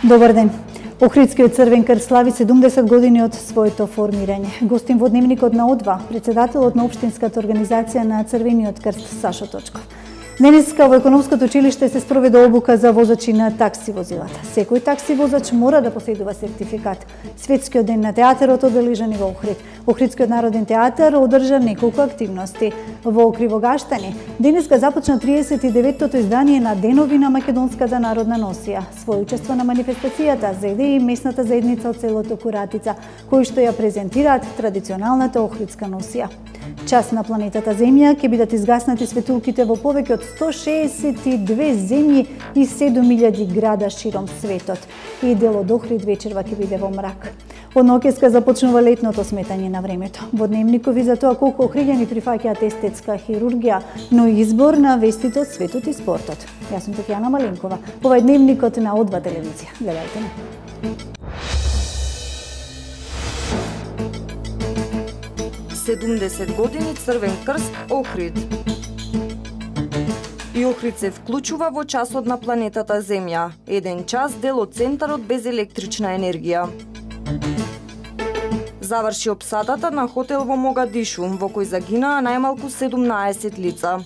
Добар ден. Охридскиот Црвен крст слави 70 години од своето формирање. Гостин во дневникот на О2, председателот на Општинската организација на Црвениот крст Сашо Точков. Денеска во економското училиште се спроведе обука за возачи на такси возилата. Секој такси возач мора да поседува сертификат. Светскиот ден на театарот одбележан и во Охрид. Охридскиот народен театар одржа неколку активности. Во Кривогаштани денеска започна 39-тото издание на Денови на македонската народна носија. Свој учество на манифестацијата зеде и местната заедница од селото Куратица, кои што ја презентираат традиционалната охридска носија. Час на планетата Земја ќе бидат изгаснати светулките во повеќе од 162 земји и 7000 града широм светот. И дел од Охрид вечерва ќе биде во мрак. Од ноќеска започнува летното сметање на времето. Во дневникови за тоа колку охриѓани прифаќаат естетска хирургија, но и избор на вестите од светот и спортот. Јас сум Татјана Маленкова. Ова е дневникот на О2 телевизија. Гледајте ме. 70 години Црвен крст Охрид. И Охрид се вклучува во часот на планетата Земја. Еден час дел од центарот без електрична енергија. Заврши опсадата на хотел во Могадишу, во кој загинаа најмалку 17 лица.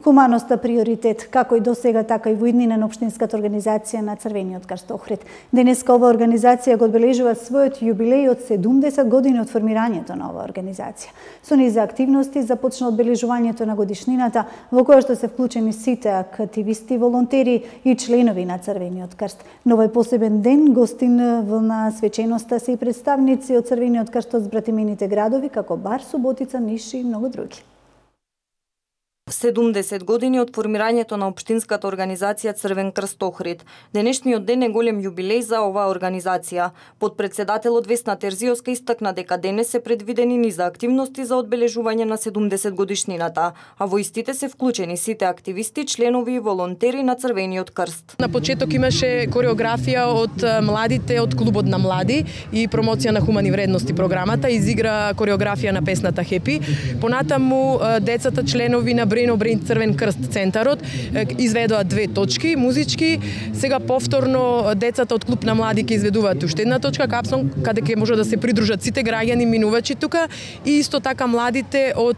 Хуманоста приоритет, како и досега, така и во иднина на Општинската организација на Црвениот крст Охрид. Денеска ова организација го одбележува својот јубилеј од 70 години од формирањето на оваа организација. Со низа активности започна одбележувањето на годишнината, во која што се вклучени сите активисти, волонтери и членови на Црвениот крст. Но овој посебен ден гостин на свеченоста се и представници од Црвениот крст од збратимените градови, како Бар, Суботица, Ниш и многу други. 70 години од формирањето на Општинската организација Црвен крст Охрид. Денешниот ден е голем јубилеј за оваа организација. Подпредседателот Весна Терзиовска истакна дека денес се предвидени низа активности за одбележување на 70 годишнината, а во истите се вклучени сите активисти, членови и волонтери на Црвениот крст. На почеток имаше кореографија од младите од клубот на млади и промоција на хумани вредности програмата, изигра кореографија на песната Хепи. Понатаму децата членови на Брейн Црвен крст центарот изведоа 2 точки музички. Сега повторно децата од клуб на млади ќе изведуваат уште една точка капсон, каде ќе може да се придружат сите граѓани минувачи тука и исто така младите од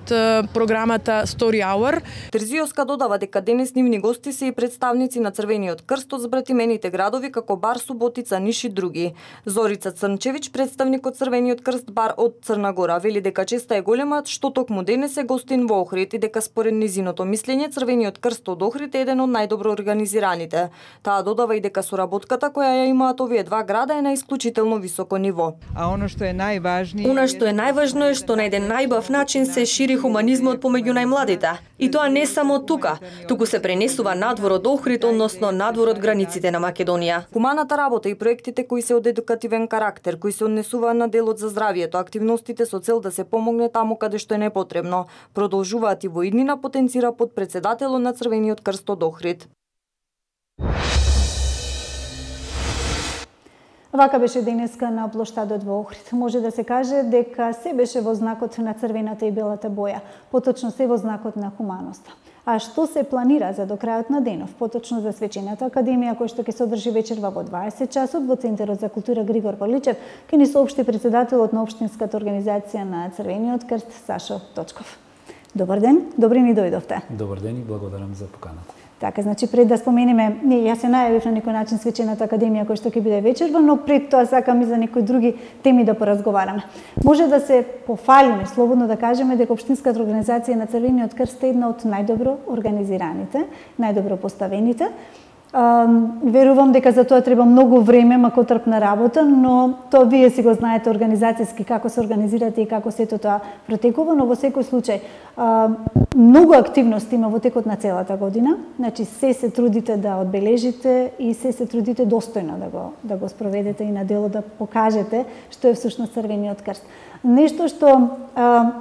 програмата Story Hour. Терзиовска додава дека денес нивни гости се и представници на Црвениот крст од збратимените градови како Бар, Суботица, Ниш и други. Зорица Црнчевич, представник од Црвениот крст Бар од Црна Гора, вели дека честа е голема што токму денес е гостин во Охрид и дека според низиното мислење Црвениот крст од Охрид е еден од најдобро организираните. Таа додава и дека соработката која ја имаат овие два града е на исклучително високо ниво. А она што е најважно е што на еден најбав начин се шири хуманизмот помеѓу најмладите. И тоа не само тука, туку се пренесува надвор од Охрид, односно надвор од границите на Македонија. Хуманата работа и проектите кои се од едукативен карактер, кои се однесуваат на делот за здравието, активностите со цел да се помогне таму каде што е непотребно, продолжуваат и во иднина, потенцира подпредседателот на Црвениот крст од Охрид. Вака беше денеска на плоштадот во Охрид. Може да се каже дека се беше во знакот на црвената и белата боја, поточно се во знакот на хуманоста. А што се планира за до крајот на денов, поточно за свечената академија која што ќе се одржи вечерва во 20 часот во Центарот за култура Григор Павличев, ќе ни соопшти председателот на Општинската организација на Црвениот крст Сашо Точков. Добар ден, добри ни дојдовте. Добар ден и благодарам за поканата. Така, значи пред да споменеме, јас се најавив на некој начин свечената академија која што ќе биде вечерва, но пред тоа сакам и за некои други теми да поразговараме. Може да се пофалиме, слободно да кажеме дека Општинската организација на Црвениот крст е една од најдобро организираните, најдобро поставените. Верувам дека за тоа треба многу време, макотрпна работа, но тоа вие си го знаете организацијски како се организирате и како сето тоа протекува, но во секој случај многу активности има во текот на целата година. Значи се трудите да одбележите и се трудите достојно да го спроведете и на дело да покажете што е всушност Црвениот крст. Нешто што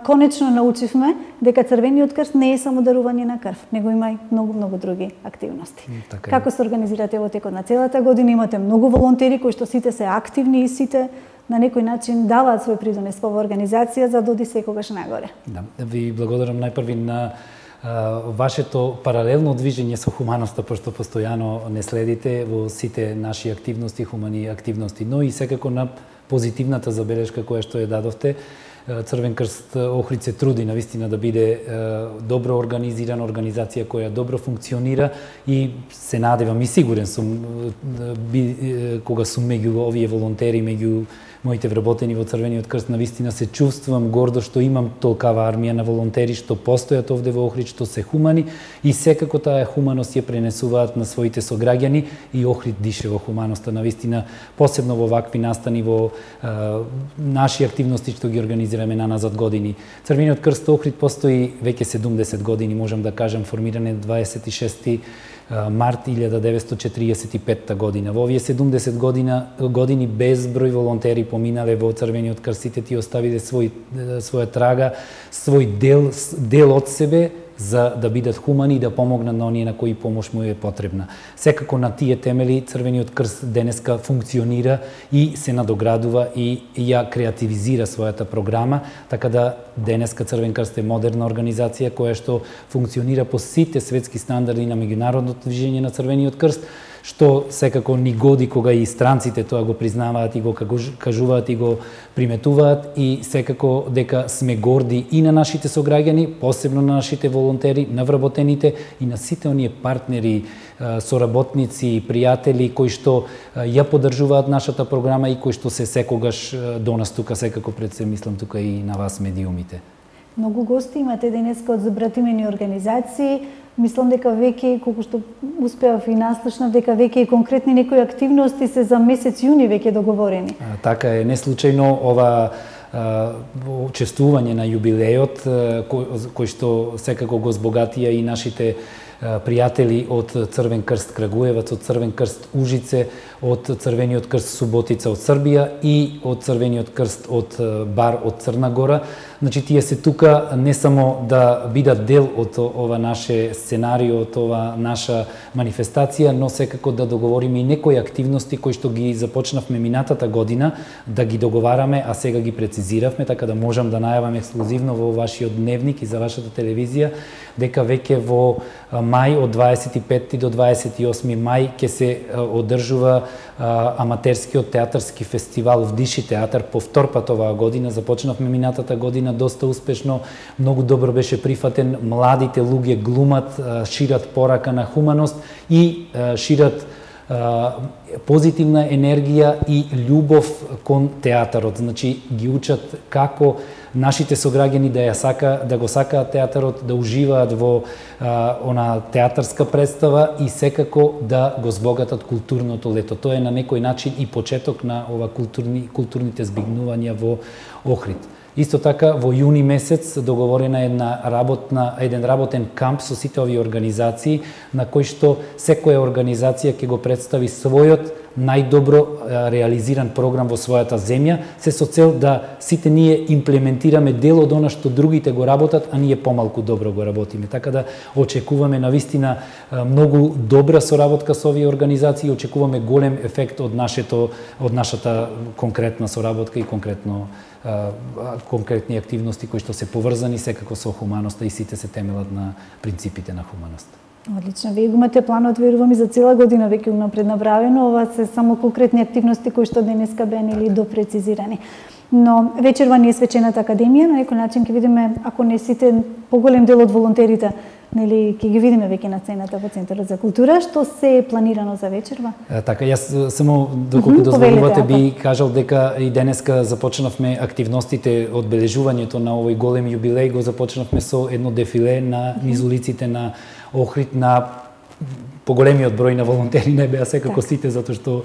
конечно научивме дека Црвениот крст не е само дарување на крв, него има и многу други активности. Како се организирате во текот на целата година? Имате многу волонтери кои што сите се активни и сите на некој начин даваат свој придонес во организација за да оди секогаш нагоре. Да, ви благодарам најпрви на вашето паралелно движење со хуманоста, пошто постојано не следите во сите наши активности, хумани активности, но и секако на позитивната забелешка која што ја дадовте. Црвен крст Охрид се труди навистина да биде добро организирана организација која добро функционира и се надевам и сигурен сум кога сум меѓу овие волонтери, меѓу моите вработени во Црвениот крст, навистина се чувствувам гордо што имам толкава армија на волонтери што постојат овде во Охрид, што се хумани и секако таа хуманост ја пренесуваат на своите сограѓани и Охрид дише во хуманоста. Навистина, посебно во вакви настани, во наши активности што ги организираме назад години. Црвениот крст Охрид постои веќе 70 години, можам да кажам, формиран е 26 март 1945 година. Во овие 70 години безброј волонтери поминале во Црвениот крст, сите ти оставиле своја трага, свој дел од себе за да бидат хумани и да помогнат на оние на кои помош му е потребна. Секако на тие темели Црвениот крст денеска функционира и се надоградува и ја креативизира својата програма, така да денеска Црвен крст е модерна организација која што функционира по сите светски стандарди на меѓународното движење на Црвениот крст, што секако ни годи кога и странците тоа го признаваат и го кажуваат и го приметуваат и секако дека сме горди и на нашите сограѓани, посебно на нашите волонтери, на вработените и на сите оние партнери, соработници, пријатели кои што ја поддржуваат нашата програма и кои што се секогаш до нас тука, секако пред се мислам тука и на вас медиумите. Многу гости имате денеска од забратимени организации. Мислам дека веќе, колку што успеав и наслушнав, дека веќе и конкретни некои активности се за месец јуни веќе договорени. Така е, не случајно ова учествување на јубилејот, кој што секако го збогатија и нашите пријатели од Црвен крст Крагуевац, од Црвен крст Ужице, од Црвениот крст Суботица од Србија и од Црвениот крст од Бар од Црна Гора. Значи, тие се тука не само да бидат дел од ова наше сценарио, од ова наша манифестација, но секако да договориме и некои активности кои што ги започнавме минатата година, да ги договараме, а сега ги прецизиравме, така да можам да најавам ексклузивно во вашиот дневник и за вашата телевизија, дека веќе во мај од 25 до 28 мај ќе се одржува аматерскиот театарски фестивал Вдиши театар по втор пат оваа година. Започнавме минатата година доста успешно, многу добро беше прифатен, младите луѓе глумат, шират порака на хуманост и шират позитивна енергија и љубов кон театарот. Значи, ги учат како нашите сограѓани да го сакаат театарот, да уживаат во она театарска представа и секако да го збогатат културното лето. Тоа е на некој начин и почеток на ова културните збигнувања во Охрид. Исто така, во јуни месец договорена еден работен камп со сите овие организации, на кој што секоја организација ќе го представи својот најдобро реализиран програм во својата земја, се со цел да сите ние имплементираме дел од она што другите го работат, а ние помалку добро го работиме. Така да очекуваме навистина многу добра соработка со овие организации, очекуваме голем ефект од нашата конкретна соработка и конкретни активности кои што се поврзани секако со хуманоста и сите се темелат на принципите на хуманоста. Одлично, вие имате планот, верувам, и за цела година веќе унапред направено. Ова се само конкретни активности кои што денеска беа или допрецизирани. Но вечерва ни е свечената академија, на некој начин ќе видиме, ако не сите, поголем дел од волонтерите, нели ќе ги видиме веќе на сцената во Центарот за култура. Што се е планирано за вечерва? Така, јас само доколку дозволувате би кажал дека и денеска започнавме активностите, одбележувањето на овој голем јубилеј, го започнавме со едно дефиле на низ улиците на Охрид, на поголемиот број на волонтери, не беа секако сите, затоа што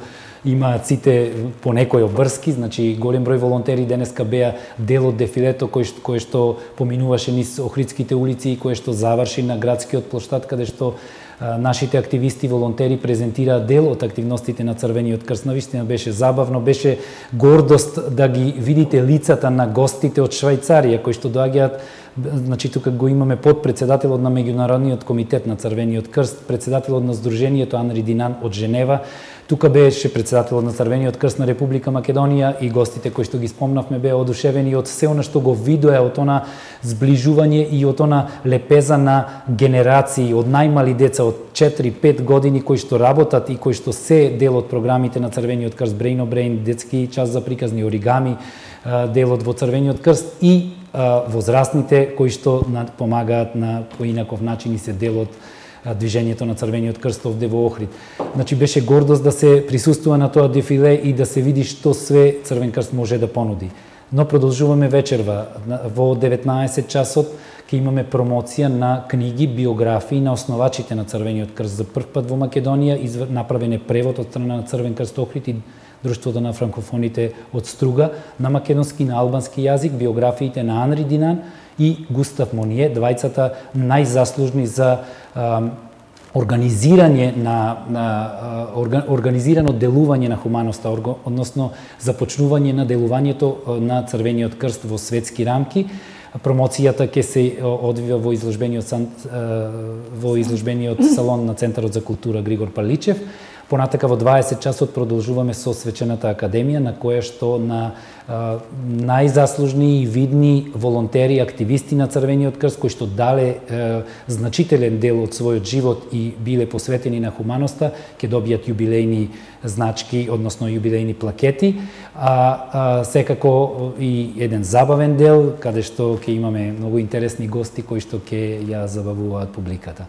имаат сите по некој обврски, значи голем број волонтери денеска беа дел од дефилето кое што поминуваше низ Охридските улици и кое што заврши на градскиот плоштад, каде што нашите активисти, волонтери презентираат дел од активностите на Црвениот крст. Навистина беше забавно, беше гордост да ги видите лицата на гостите од Швајцарија кои што доаѓаат. Значи, тука го имаме подпредседателот на Меѓународниот комитет на Црвениот крст, председателот на Сдруженијето Анри Динан од Женева, Тука беше председателот на Црвениот крст на Република Македонија и гостите кои што ги спомнавме беа одушевени од се она што го видоа, од она зближување и од она лепеза на генерации, од најмали деца од 4-5 години кои што работат и кои што се дел од програмите на Црвениот крст, Brain on Brain, детски час за приказни, оригами, делот во Црвениот крст и возрастните кои што помагаат на поинаков начин и се дел од движењето на Црвениот крст овде во Охрид. Значи беше гордост да се присуствува на тоа дефиле и да се види што све Црвен крст може да понуди. Но продолжуваме вечерва. Во 19 часот ќе имаме промоција на книги, биографии на основачите на Црвениот крст. За прв пат во Македонија направен е превод од страна на Црвен крст Охрид и Друштвото на франкофоните од Струга на македонски и на албански јазик, биографиите на Анри Динан и Густав Моние, двајцата најзаслужни за организирано делување на хуманоста, односно започнување на делувањето на Црвениот крст во светски рамки. Промоцијата ќе се одвива во изложбениот салон на Центарот за култура Григор Паличев. Понатака во 20 часот продолжуваме со Свечената академија, на која што на најзаслужни и видни волонтери, активисти на Црвениот крст, кои што дале значителен дел од својот живот и биле посветени на хуманоста, ќе добијат јубилејни значки, односно јубилејни плакети, секако и еден забавен дел, каде што ќе имаме многу интересни гости кои што ќе ја забавуваат публиката.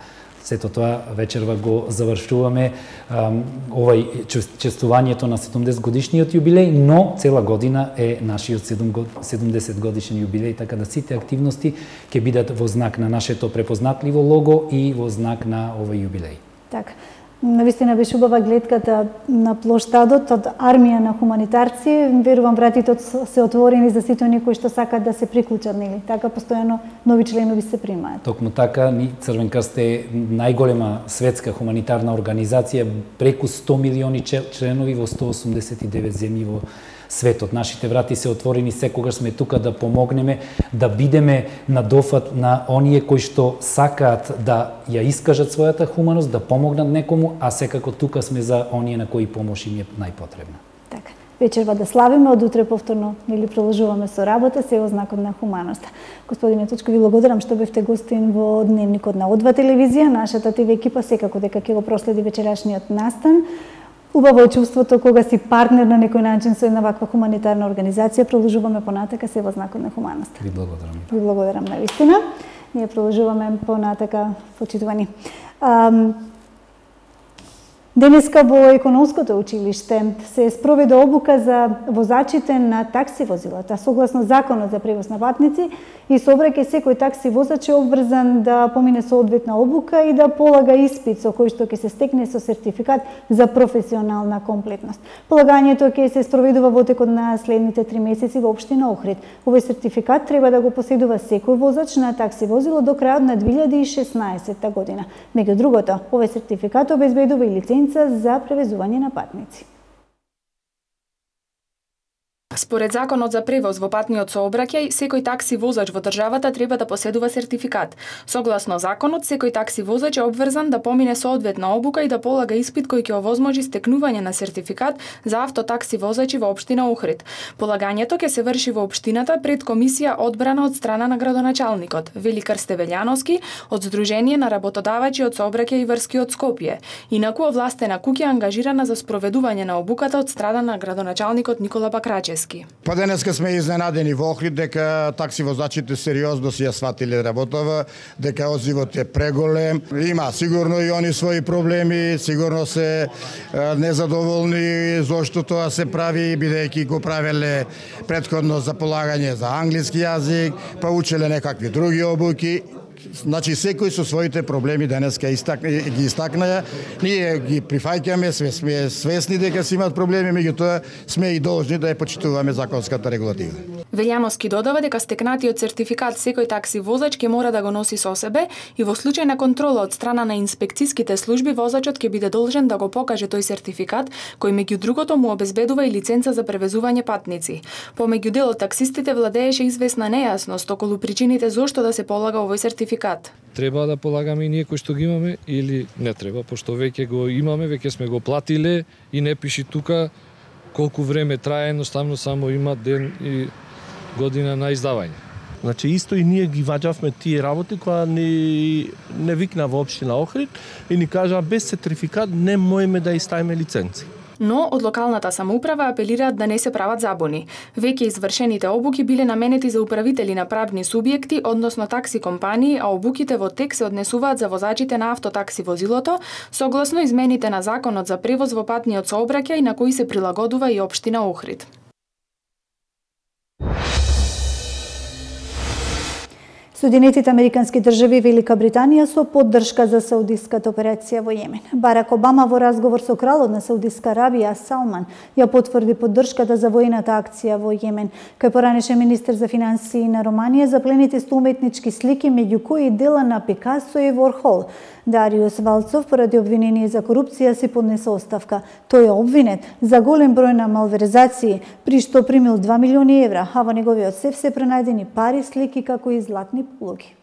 Сето тоа вечерва го завршуваме овај честувањето на 70 годишниот јубилеј, но цела година е нашиот 70 годишен јубилеј, така да сите активности ќе бидат во знак на нашето препознатливо лого и во знак на овој јубилеј. Така. Навистина беше убава гледката на плоштадот од армија на хуманитарци. Верувам вратите се отворени за сите оние кои што сакаат да се приклучат, нели? Така постојано нови членови се примаат. Токму така, Црвен крст е најголема светска хуманитарна организација, преку 100 милиони членови во 189 земји во светот. Нашите врати се отворени, секогаш сме тука да помогнеме, да бидеме на дофат на оние кои што сакаат да ја искажат својата хуманост, да помогнат некому, а секако тука сме за оние на кои помош им е најпотребна. Така. Вечерва да славиме, од утре повторно или продолжуваме со работа, се во знакот на хуманоста. Господине Точко, ви благодарам што бевте гостин во Дневникот на О2 телевизија. Нашата ТВ екипа секако дека ќе го проследи вечерашниот настан. Убаво е чувството кога си партнер на некој начин со една ваква хуманитарна организација. Продолжуваме понатака се во знакот на хуманоста. Ви благодарам. Ви благодарам навистина. Ние продолжуваме понатака, почитувани. Денеска во Економското училиште се спроведе обука за возачите на такси возилата. Согласно Законот за превоз на патници и сообраќај, секој такси возач е обврзан да помине соодветна обука и да полага испит со кој што ќе се стекне со сертификат за професионална комплетност. Полагањето ќе се спроведува во текот на следните 3 месеци во општина Охрид. Овој сертификат треба да го поседува секој возач на такси возило до крајот на 2016 година. Меѓу другото, овој сертификат обезбедува и лиценца за превезување на патници. Според Законот за превоз во патниот сообраќај, секој такси возач во државата треба да поседува сертификат. Согласно законот, секој такси возач е обврзан да помине соодветна обука и да полага испит кој ќе овозможи стекнување на сертификат за автотакси возачи во општина Охрид. Полагањето ќе се врши во општината пред комисија одбрана од страна на градоначалникот Великар Стевелјановски од Сдружение на работодавачи од сообраќај и врски од Скопје. Инаку овластена куќа е ангажирана за спроведување на обуката од страна на градоначалникот Никола Бакрачевски. Па денеска сме изненадени во Охрид дека такси возачите сериозно си ја сватиле работава, дека одзивот е преголем. Има сигурно и они своји проблеми, сигурно се незадоволни зошто тоа се прави, бидејќи го правеле претходно за полагање за англиски јазик, па учеле некакви други обуки. Значи секој со своите проблеми денеска ги истакна. Ние ги прифаќаме, сме свесни дека си имаат проблеми, меѓутоа сме и должни да ја почитуваме законската регулатива. Велјановски додава дека стекнатиот сертификат секој такси возач ќе мора да го носи со себе и во случај на контрола од страна на инспекциските служби возачот ќе биде должен да го покаже тој сертификат, кој меѓу другото му обезбедува и лиценца за превезување патници. Помеѓу дел од таксистите владееше известна нејасност околу причините зошто да се полага овој сертификат. Треба да полагаме и ние кои што ги имаме или не треба, пошто веќе го имаме, веќе сме го платиле и не пиши тука колку време трае, едноставно само има ден и година на издавање. Значи исто и ние ги ваѓавме тие работи која не викна во општина Охрид и ни кажа без сертификат не можеме да иставиме лиценци. Но од локалната самоуправа апелираат да не се прават забуни. Веќе извршените обуки биле наменети за управители на правни субјекти, односно такси компании, а обуките во тек се однесуваат за возачите на автотакси возилото, согласно измените на Законот за превоз во патниот сообраќај на кои се прилагодува и општина Охрид. Соединетите американски држави и Велика Британија со поддршка за саудиската операција во Јемен. Барак Обама во разговор со кралот на Саудиска Арабија Салман ја потврди поддршката за воената акција во Јемен. Кај поранешен министер за финансии на Романија заплените 100 уметнички слики, меѓу кои дела на Пикасо и Ворхол. Дариус Валцов поради обвинение за корупција си поднесе оставка. Тој е обвинет за голем број на малверзации, при што примил 2 милиони евра, а во неговиот сеф се пронајдени пари, слики како и златни полуги.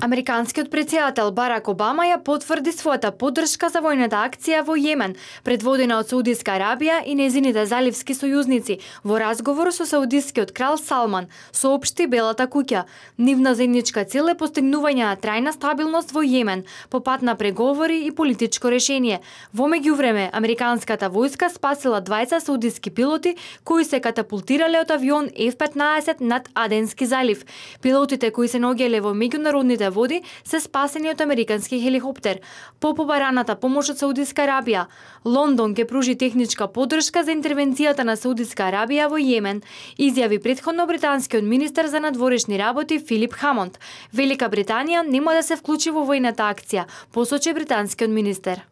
Американскиот претседател Барак Обама ја потврди својата поддршка за војната акција во Јемен, предводена од Саудиска Арабија и незините заливски сојузници. Во разговор со саудискиот крал Салман, соопшти Белата куќа. Нивна заедничка цел е постигнување на трајна стабилност во Јемен, по пат на преговори и политичко решение. Во меѓувреме, американската војска спасила 20 саудиски пилоти кои се катапултирале од авион F-15 над Аденски залив. Пилотите кои се наоѓале во меѓународните води се спасени од американски хеликоптер. По побараната помош од Саудиска Арабија, Лондон ќе пружи техничка поддршка за интервенцијата на Саудиска Арабија во Јемен, изјави претходно британскиот министер за надворешни работи Филип Хамонд. Велика Британија нема да се вклучи во војната акција, посочи британскиот министер.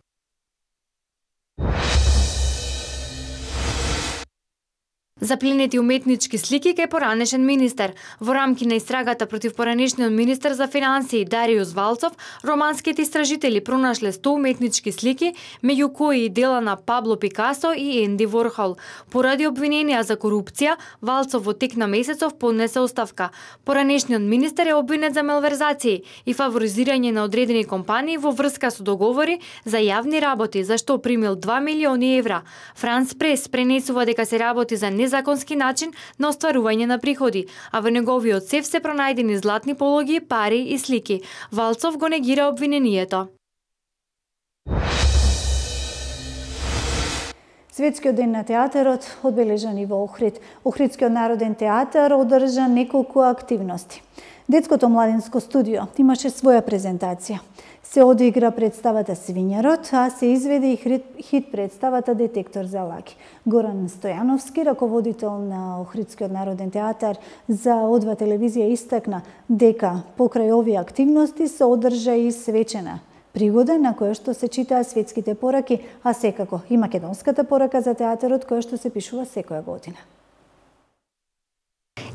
Запленети уметнички слики кај поранешен министер. Во рамки на истрагата против поранешниот министер за финансии Дариус Валцов, романските истражители пронашле 100 уметнички слики, меѓу кои и дела на Пабло Пикасо и Енди Ворхол. Поради обвиненија за корупција, Валцов во тек на месецов поднесе оставка. Поранешниот министер е обвинет за малверзации и фаворизирање на одредени компании во врска со договори за јавни работи, за што примил 2 милиони евра. Франс Прес пренесува дека се работи за законски начин на остварување на приходи, а во неговиот сеф се пронајдени златни пологи, пари и слики. Валцов го негира обвинението. Светскиот ден на театарот одбележан и во Охрид. Охридскиот народен театар одржа неколку активности. Детското младинско студио имаше своја презентација. Се одигра представата Свињарот, а се изведе и хит представата Детектор за лаги. Горан Стојановски, раководител на Охридскиот народен театар за О2 телевизија, истакна дека покрај овие активности се одржа и свечена пригода на која што се читаа светските пораки, а секако и македонската порака за театарот која што се пишува секоја година.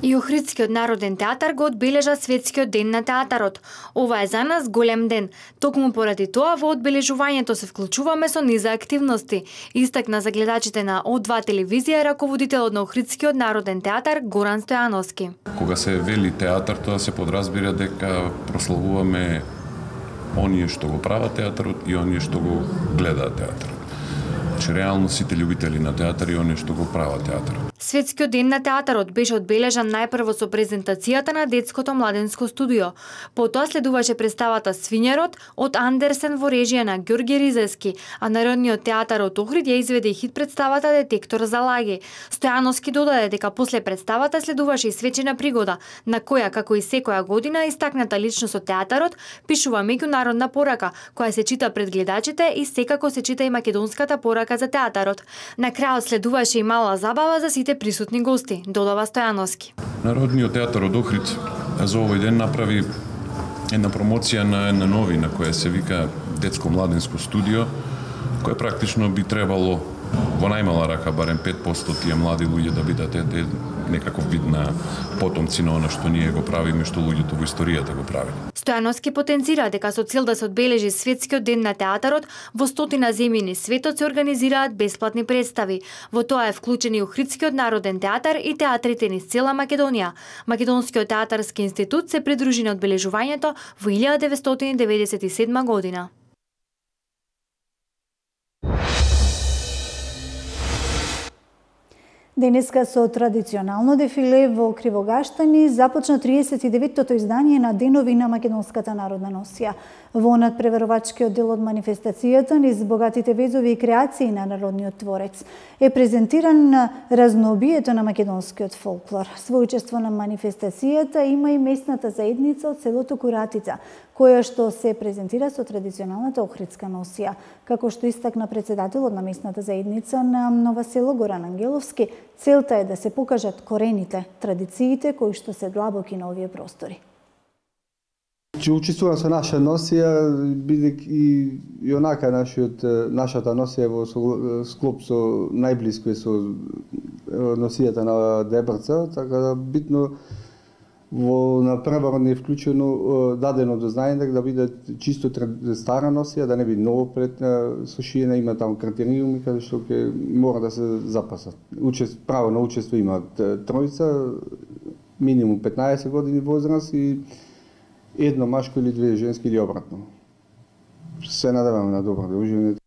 И Охридскиот народен театар го одбележа Светскиот ден на театарот. Ова е за нас голем ден. Токму поради тоа во одбележувањето се вклучуваме со низа активности, истакна за гледачите на О2 телевизија раководителот на Охридскиот народен театар Горан Стојановски. Кога се вели театар, тоа се подразбира дека прославуваме оние што го прават театарот и оние што го гледаат театарот. Значи, реално сите љубители на театар и оние што го прават театарот. Светскиот ден на театарот беше одбележан најпрво со презентацијата на детското младенско студио. Потоа следуваше представата Свињарот од Андерсен во режија на Ѓорѓе Ризески, а Народниот театар од Охрид ја изведе хит представата Детектор за лаги. Стојановски додаде дека после представата следуваше и свечена пригода, на која, како и секоја година, истакната личност од театарот пишува меѓународна порака, која се чита пред гледачите и секако се чита и македонската порака за театарот. На крајот следуваше и мала забава за сите присутни гости, додава Стојановски. Народниот театар од Охрид за овој ден направи една промоција на една новина која се вика Детско младенско студио, која практично би требало во најмала рака барем 5% тие млади луѓе да бидат некаков вид на потомци на она што ние го правиме, што луѓето во историјата го прават. Стојановски потенцира дека со цел да се одбележи Светскиот ден на театарот, во 100 земји низ светот се организираат бесплатни представи. Во тоа е вклучен и Охридскиот народен театар и театрите низ цела Македонија. Македонскиот театарски институт се придружи на одбележувањето во 1997 година. Денеска со традиционално дефиле во Кривогаштани започна 39-тото издание на Денови на Македонската народна носија. Во надпреварувачкиот дел од манифестацијата низ богатите везови и креации на народниот творец е презентиран разнообието на македонскиот фолклор. Со учество на манифестацијата има и местната заедница од селото Куратица, која што се презентира со традиционалната охридска носија. Како што истакна председателот на местната заедница на Ново село Горан Ангеловски, целта е да се покажат корените, традициите кои што се длабоки на овие простори. Че учествувам со наша носија, бидејќи и онака нашата носија во склоп со најблиско е со носијата на Дебрца, така да битно во надпреварот не е вклучено дадено до знаење да биде чисто стара носија, да не биде ново пред сошиена, има таму критериуми каде што ќе мора да се запасат. Право на учество има тројца, минимум 15 години возраст и едно машко или две женски или обратно. Се надеваме на добро дружење.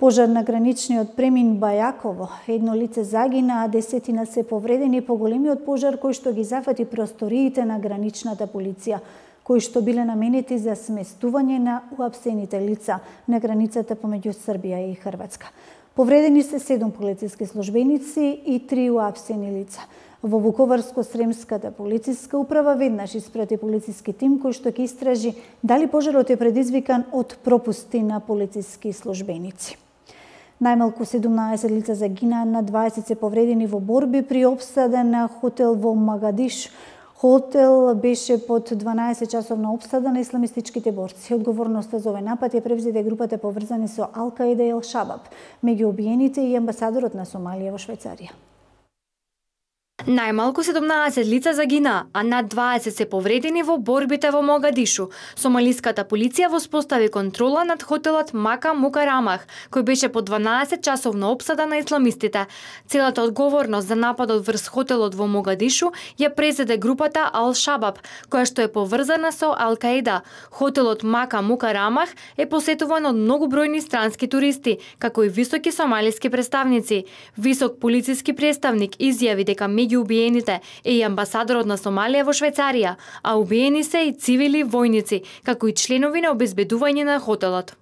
Пожар на граничниот премин Бајаково. Едно лице загина, а 10 се повредени по големиот пожар кој што ги зафати просториите на граничната полиција, кои што биле наменети за сместување на уапсените лица на границата помеѓу Србија и Хрватска. Повредени се 7 полициски службеници и 3 уапсени лица. Во Вуковарско-Сремската полициска управа веднаш испрати полициски тим кој што ќе истражи дали пожарот е предизвикан од пропусти на полициски службеници. Најмалку 17 лица загинаа, на 20 се повредени во борби при опсада на хотел во Магадиш. Хотел беше под 12-часовна опсада на исламистичките борци. Одговорноста за овој напад ја превзеде групата поврзани со Ал-Каида и Ал-Шабаб. Меѓу обиените и амбасадорот на Сомалија во Швајцарија. Најмалку 17 лица загинаа, а над 20 се повредени во борбите во Могадишу. Сомалиската полиција воспостави контрола над хотелот Мака Мукарамах, кој беше по 12-часовна опсада на исламистите. Целата одговорност за нападот врз хотелот во Могадишу ја презеде групата Ал-Шабаб, која што е поврзана со Ал-Каида. Хотелот Мака Мукарамах е посетуван од многобројни странски туристи, како и високи сомалиски представници. Висок полициски представник изјави дека меѓу убиените е и амбасадорот на Сомалија во Швајцарија, а убиени се и цивили војници, како и членови на обезбедување на хотелот.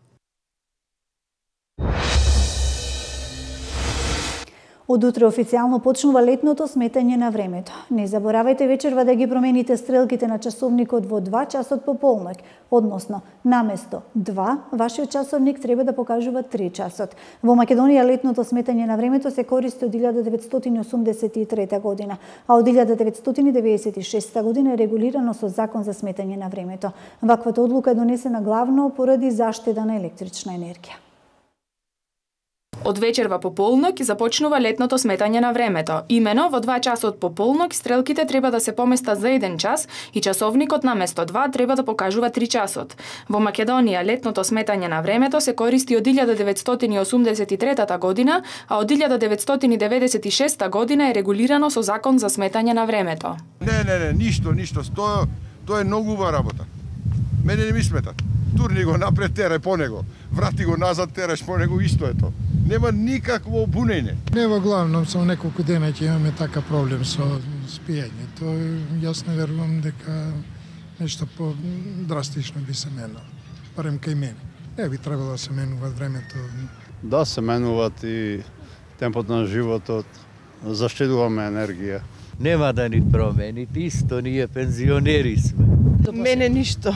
Од утре официјално почнува летното сметање на времето. Не заборавајте вечерва да ги промените стрелките на часовникот во 2 часот по полноќ, односно наместо 2, вашиот часовник треба да покажува 3 часот. Во Македонија летното сметање на времето се користи од 1983 година, а од 1996 година е регулирано со Закон за сметање на времето. Ваквата одлука е донесена главно поради заштеда на електрична енергија. Од вечерва по полноќ започнува летното сметање на времето. Имено во 2 часот по полноќ стрелките треба да се поместат за 1 час и часовникот наместо 2 треба да покажува 3 часот. Во Македонија летното сметање на времето се користи од 1983 година, а од 1996 година е регулирано со Закон за сметање на времето. Не, ништо. Тоа е многу убава работа. Мене не ми смета. Турни го напред, терај по него. Врати го назад, тераш по него, исто е тоа. Нема никакво бунење. Не во главном, само неколку дена ќе имаме така проблем со спиење. Тоа јас не верувам дека нешто по-драстично би се менало. Барем кај мене. Не би требало да се менува времето. Да, се менуваат и темпот на животот. Заштедуваме енергија. Нема да ни промените, исто ние пензионери сме. Мене ништо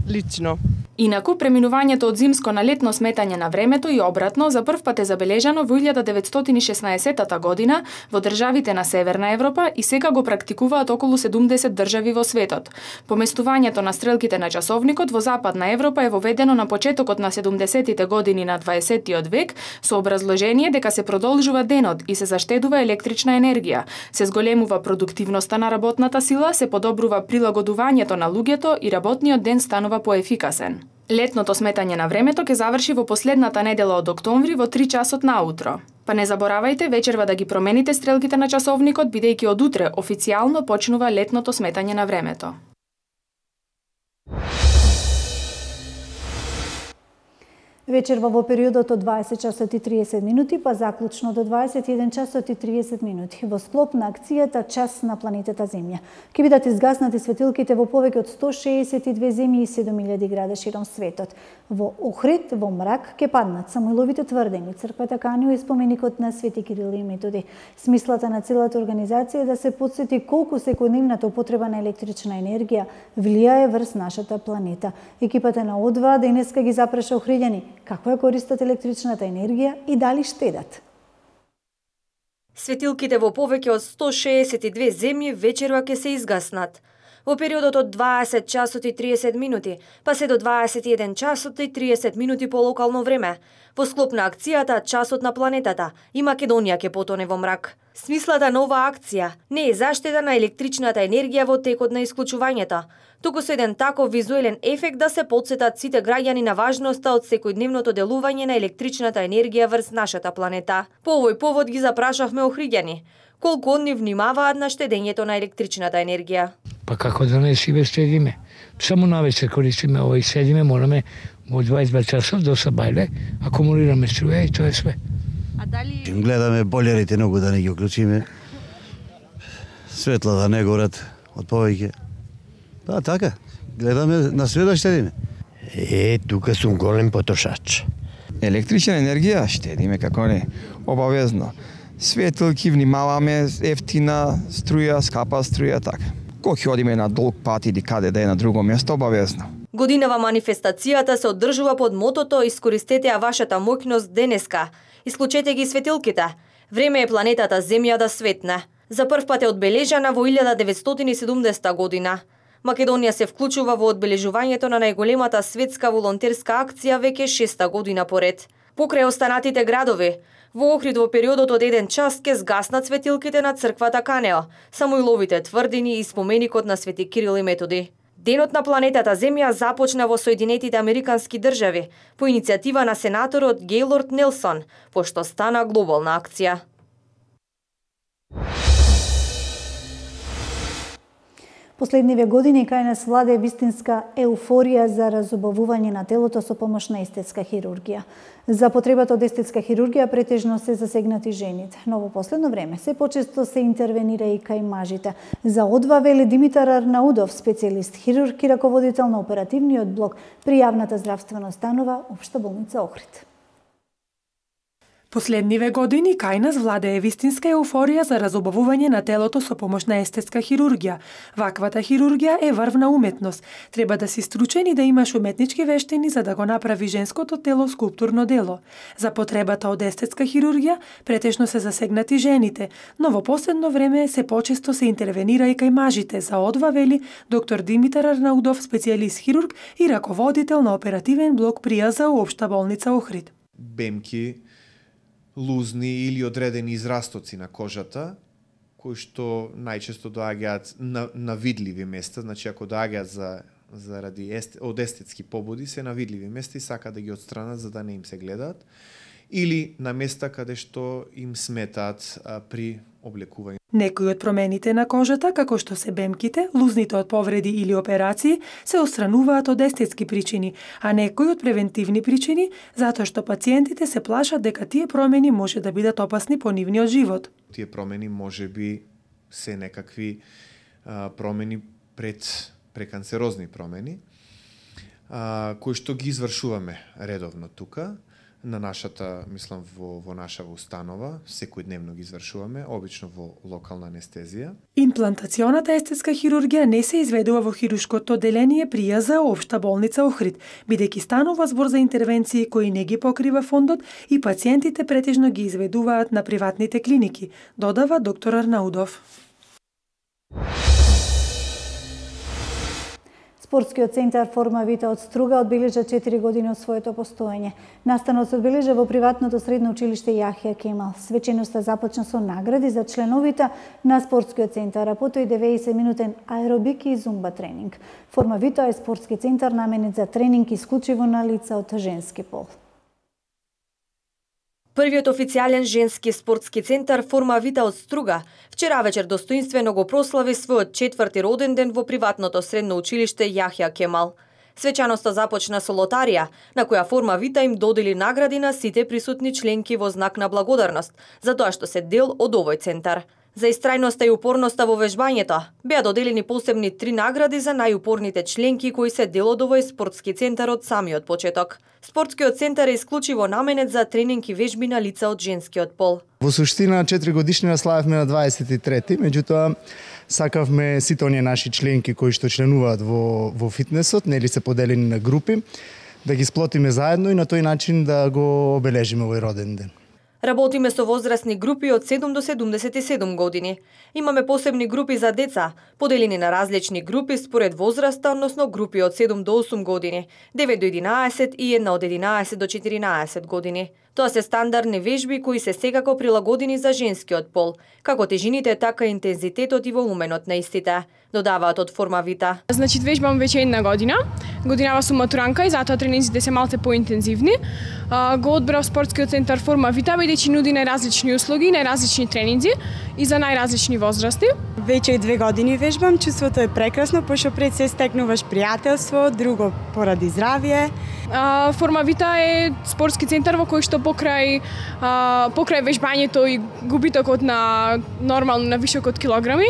лично. Инаку, преминувањето од зимско на летно сметање на времето и обратно за прв пат е забележано во 1916 година во државите на Северна Европа и сега го практикуваат околу 70 држави во светот. Поместувањето на стрелките на часовникот во Западна Европа е воведено на почетокот на 70-тите години на 20-тиот век со образложение дека се продолжува денот и се заштедува електрична енергија, се зголемува продуктивноста на работната сила, се подобрува прилагодувањето на луѓето и работниот ден станува поефикасен. Летното сметање на времето ќе заврши во последната недела од октомври во 3 часот наутро. Па не заборавајте вечерва да ги промените стрелките на часовникот, бидејќи од утре официјално почнува летното сметање на времето. Вечерва во периодот од 20 часот и 30 минути, па заклучно до 21 часот и 30 минути, во склоп на акцијата Час на планетата Земја. Ќе бидат изгаснати светилките во повеќе од 162 земји и 7000 града широм светот. Во Охрид, во мрак, ќе паднат Самуиловите тврдени, црквата Канио и споменикот на Свети Кирил и Методи. Смислата на целата организација е да се потсети колку секојдневната употреба на електрична енергија влијае врз нашата планета. Екипата на О2 денеска ги запраша охриѓани како ја користат електричната енергија и дали штедат. Светилките во повеќе од 162 земји вечерва ќе се изгаснат. Во периодот од 20 часот и 30 минути, па се до 21 часот и 30 минути по локално време, во склоп на акцијата Часот на планетата и Македонија ќе потоне во мрак. Смислата на оваа акција не е заштеда на електричната енергија во текот на исклучувањето, туку со еден таков визуелен ефект да се потсетат сите граѓани на важноста од секојдневното делување на електричната енергија врз нашата планета. По овој повод ги запрашавме охриѓани колку од нив внимаваат на штедењето на електричната енергија. Па како да не си штедиме? Само навечер користиме овој седиме, morаме во 22 часов до сабајле, акумулираме струја и тоа е све. А дали гледаме болерите многу да не ги уклучиме? Светла да не горат од повеќе. Да, така. Гледаме на све да штедиме. Тука сум голем потрошач. Електрична енергија штедиме, како не, обавезно. Светилки, внимаваме, ефтина струја, скапа струја, така. Кога ќе одиме на долг пат или каде да е на друго место, обавезно. Годинава манифестацијата се одржува под мотото "Искористете ја вашата моќност денеска". Исклучете ги светилките. Време е планетата Земја да светне. За прв пат е одбележана во 1970 година. Македонија се вклучува во одбележувањето на најголемата светска волонтерска акција веќе 6-та година поред. Покрај останатите градови, во Охрид во периодот од 1 час ќе згаснат светилките на црквата Канео, Самуиловите тврдини и споменикот на Свети Кирил и Методи. Денот на планетата Земја започна во Соединетите Американски држави по иницијатива на сенаторот Гејлорд Нелсон, пошто стана глобална акција. Последниве години кај нас владее вистинска еуфорија за разубавување на телото со помош на естетска хирургија. За потребата од естетска хирургија претежно се засегнати жените, но во последно време се почесто се интервенира и кај мажите. За О2 вели Димитар Арнаудов, специјалист хирург и раководител на оперативниот блок при јавната здравствена установа Општа болница Охрид. Последниве години кај нас владее вистинска еуфорија за разубавување на телото со помош на естетска хирургија. Ваквата хирургија е врвна уметност. Треба да си стручен и да имаш уметнички вештини за да го направи женското тело скулптурно дело. За потребата од естетска хирургија претежно се засегнати жените, но во последно време се почесто се интервенира и кај мажите. За О2 вели доктор Димитар Арнаудов, специјалист хирург и раководител на оперативен блок при АЗУ Општа болница Охрид. Бемки, лузни или одредени израстоци на кожата, кои што најчесто доаѓаат на видливи места, значи ако доаѓаат заради од естетски побуди, се на видливи места и сака да ги отстранат за да не им се гледаат, или на места каде што им сметаат при облекување. Некои од промените на кожата, како што се бемките, лузните од повреди или операции, се отстрануваат од естетски причини, а некои од превентивни причини, затоа што пациентите се плашат дека тие промени може да бидат опасни по нивниот живот. Тие промени може би се некакви промени преканцерозни промени, кои што ги извршуваме редовно тука, на нашата, мислам, во нашава установа, секојдневно ги извршуваме, обично во локална анестезија. Имплантационата естетска хирургија не се изведува во хируршкото одделение при ЈЗ Општа болница Охрид, бидејќи станува збор за интервенции кои не ги покрива фондот и пациентите претежно ги изведуваат на приватните клиники, додава доктор Арнаудов. Спортскиот центар Форма Вита од Струга одбележа 4 години од своето постоење. Настанот се одбележа во приватното средно училиште Јахја Кемал. Свеченоста започна со награди за членовите на спортскиот центар, а потоа и 90-минутен аеробик и зумба тренинг. Форма Вита е спортски центар наменет за тренинг исклучиво на лица од женски пол. Првиот официјален женски спортски центар Форма Вита од Струга вчера вечер достоинствено го прослави својот 4ти роден ден во приватното средно училиште Јахја Кемал. Свечаноста започна со лотарија, на која Форма Вита им додели награди на сите присутни членки во знак на благодарност, за тоа што се дел од овој центар. За истрајноста и упорноста во вежбањето беа доделени посебни 3 награди за најупорните членки кои се дел од овој спортски центар од самиот почеток. Спортскиот центар е исклучиво наменет за тренинг и вежби на лица од женскиот пол. Во суштина 4 годишнина славевме на 23-ти, меѓутоа сакавме сите оние наши членки кои што членуваат во фитнесот, нели се поделени на групи, да ги сплотиме заедно и на тој начин да го обележиме овој роден ден. Работиме со возрастни групи од 7 до 77 години. Имаме посебни групи за деца, поделени на различни групи според возраста, односно групи од 7 до 8 години, 9 до 11 и една од 11 до 14 години. Тоа се стандардни вежби кои се секако прилагодени за женскиот пол, како тежините, така и интензитетот и волуменот на истите, додаваат од Форма Вита. Значи, вежбам веќе една година. Годинава сум матуранка и затоа тренинзите се малце поинтензивни. Го одбрав спортскиот центар Форма Вита, бидејќи нуди најразлични услуги, најразлични тренинзи и за најразлични возрасти. Веќе 2 години вежбам, чувството е прекрасно, пошто пред се стекнуваш пријателство, друго поради здравје. Форма Вита е спортски центар во кој што покрај вежбањето и губитокот на нормално на вишок од килограми,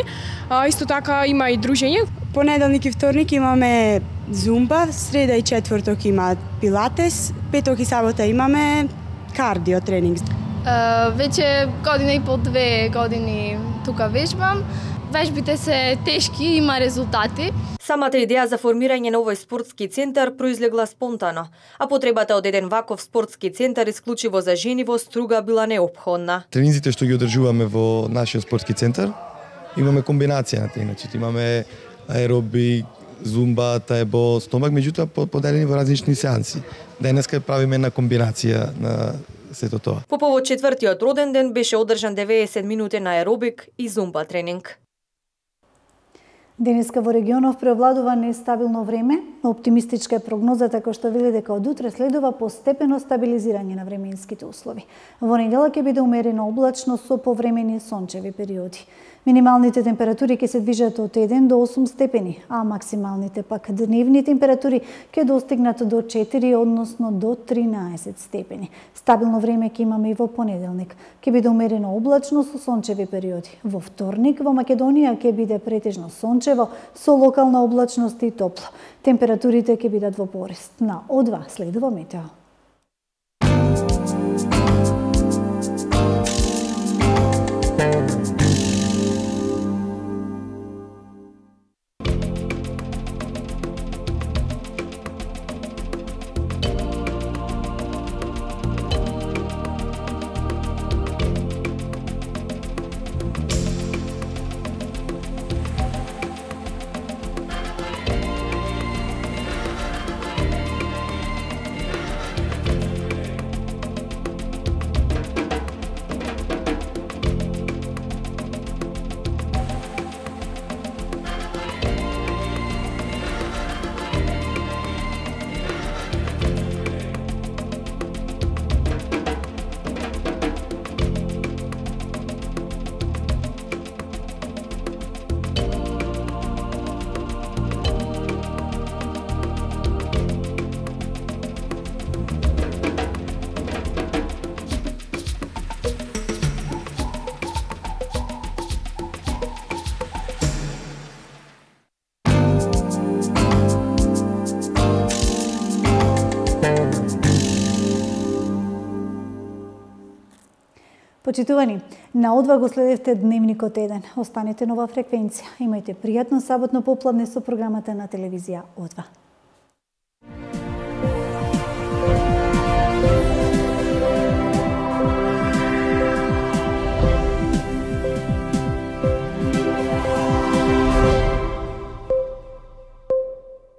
исто така има и дружење. Понеделник и вторник имаме зумба, среда и четврток има пилатес, петок и сабота имаме кардио тренинг. Веќе година и пол, 2 години тука вежбам. Вежбите се тешки, има резултати. Самата идеја за формирање на овој спортски центар произлегла спонтано, а потребата од еден ваков спортски центар исклучиво за жени во Струга била неопходна. Тренинзите што ги одржуваме во нашиот спортски центар, имаме комбинација на тренинзите. Имаме аеробик, зумба, таебо, стомак, меѓутоа поделени во различни сеанси. Денеска правиме една комбинација на сето тоа. По повод 4-тиот роден ден беше одржан 90-минутен аеробик и зумба тренинг. Денеска во регионов преовладува нестабилно време, оптимистичка е прогнозата која што вели дека од утре следува постепено стабилизирање на временските услови. Во недела ќе биде умерено облачно со повремени сончеви периоди. Минималните температури ќе се движат од 1 до 8 степени, а максималните пак дневни температури ќе достигнат до 4, односно до 13 степени. Стабилно време ќе имаме и во понеделник. Ќе биде умерено облачно со сончеви периоди. Во вторник во Македонија ќе биде претежно сончево со локална облачност и топло. Температурите ќе бидат во порест. На О2 следува метео. Почитувани, на О2 го следевте Дневникот 1. Останете нова фреквенција. Имајте пријатно саботно попладне со програмата на телевизија О2.